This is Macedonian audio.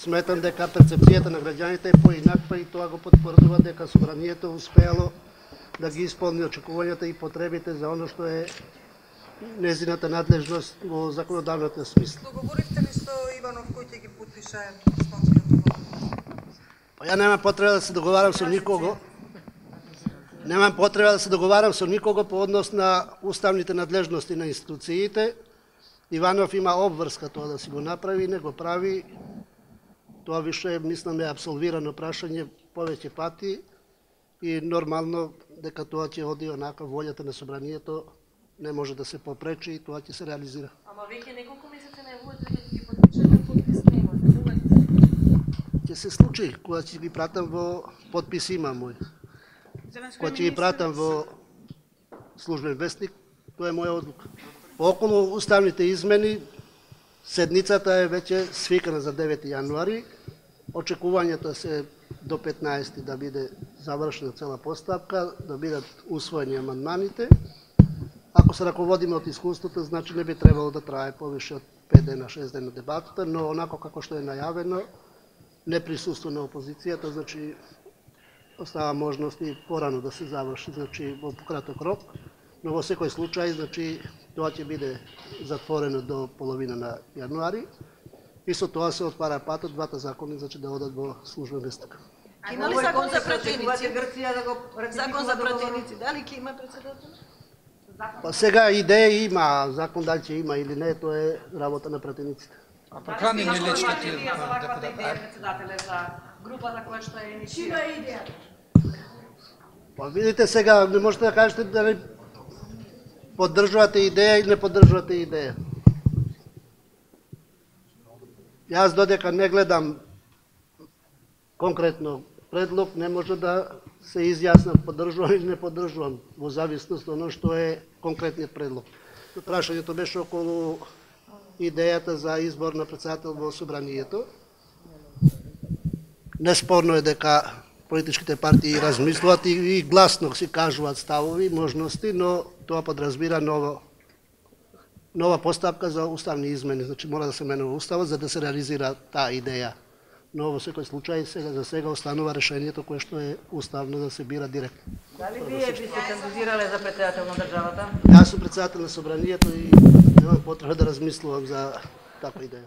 Сметам дека перцепцијата на граѓаните е поинаква и тоа го потврдува дека собранието успеало да ги исполни очекувањата и потребите за оно што е незината надлежност во законодавната смисла. Договоривте ли со Иванов кој ќе ги потпише станскиот договор? Ја немам потреба да се договарам со никого. Немам потреба да се договарам со никого по однос на уставните надлежности на институциите. Иванов има обврска тоа да си го направи, не го прави. Тоа више, мислам, е абсолвирано прашање повеќе пати и нормално дека тоа ќе оди онака волјата на собранието не може да се попречи и тоа ќе се реализира. Ама веќе неколку месеци најавувате дека ќе ги потпишете, подпис нема. Ќе се случи кога ќе ги пратам во подпис има мој. Кога ќе ги пратам во службен вестник, тоа е моја одлука. Околу уставните измени, седницата е веќе свикана за 9 јануари. Очекувањата се до 15 да биде завршена цела постапка, да бидат усвоени амандманите. Ако се раководиме од искуството, значи не би требало да трае повише од 5 дена, 6 дена дебатата, но онако како што е најавено, не присуство на опозицијата, значи остава можност и порано да се заврши, значи во пократок рок, но во секој случај, значи тоа ќе биде затворено до половина на јануари и со тоа се отвара патот двата закони, значи да одат во службен вестник. Има ли закон за пратеници? Закон за пратеници, дали ќе има председател? Па сега идеја има, закон дали ќе има или не, тоа е работа на пратениците. А покани не лечките за ваквата идеја председателе за групата која што е иницијира. Чија идеја? Па видите сега, не можете да кажете дали поддржувате идеја или не поддржувате идеја. Јас додека не гледам конкретно предлог, не може да се изјаснам поддржувам или не поддржувам, во зависност од оно што е конкретниот предлог. Прашањето беше околу идејата за избор на председател во собранието. Неспорно е дека политичките партии размислуваат и гласно си кажуваат ставови, можности, но тоа подразбира нова постапка за уставни измени. Значи мора да се менува уставот за да се реализира таа идеја. Но во секој случај за сега останува решението кое што е уставно да се бира директно. Дали вие би се кандидирале за председател на државата? Јас сум председател на собранието и немам потреба да размислувам за таква идеја.